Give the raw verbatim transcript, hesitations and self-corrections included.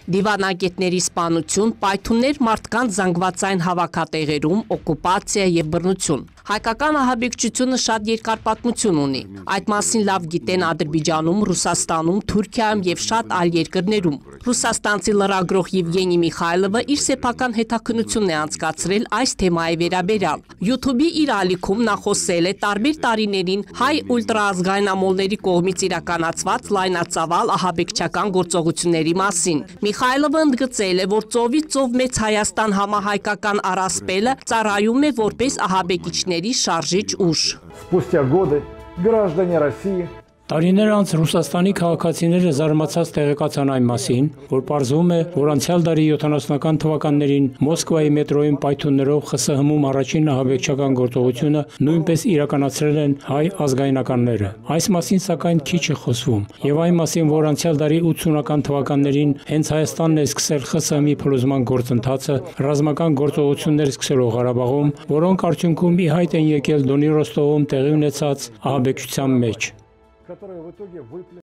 Դիվանագետների սպանություն, պայթուններ մարդկանց զանգվածային հավաքատեղերում, օկուպացիա և բռնություն։ Հայկական ահաբեկչությունը շատ երկար պատմություն ունի։ Այդ մասին լավ գիտեն Ադրբեջանում, Ռուսաստանում, Թուրքիայում և շատ այլ երկրներում։ Ռուսաստանցի լրագրող Եվգենի Միխայլովը իր սեփական հետաքննությունն է անցկացրել այս թեմայի վերաբերյալ։ YouTube-ի իր ալիքում նա խոսել է տարբեր տարիներին հայ ուլտրաազգայնամոլների կողմից իրականացված լայնածավալ ահաբեկչական գործողությունների մասին։ Միխայլովը ընդգծել է, որ ծովից ծով Մեծ Հայաստան համահայկական առասպելը ծառայում է որպես ահաբեկիչների շարժիչ ուժ։ Спустя годы граждане России Տարիներ անց Ռուսաստանի քաղաքացիները զարմացած տեղեկացան այն մասին, որ պարզվում է, որ անցյալ դարի յոթանասունական թվականներին Մոսկվայի մետրոյին պայթյուններով ԽՍՀՄ-ում առաջին ահաբեկչական գործողությունը նույնպես իրականացրել են հայ ազգայնականները։ Այս մասին սակայն քիչ է խոսվում, եւ այն մասին, որ անցյալ դարի ութսունական թվականներին հենց Հայաստանն է սկսել ԽՍՀՄ-ի փլուզման գործընթացը, ռազմական գործողություններ սկսելով Ղարաբաղում, որոնք արդյունքում ի հայտ են եկել Դոնի Ռոստովում տեղի ունեցած ահաբեկչության մեջ։ которые в итоге выплеснули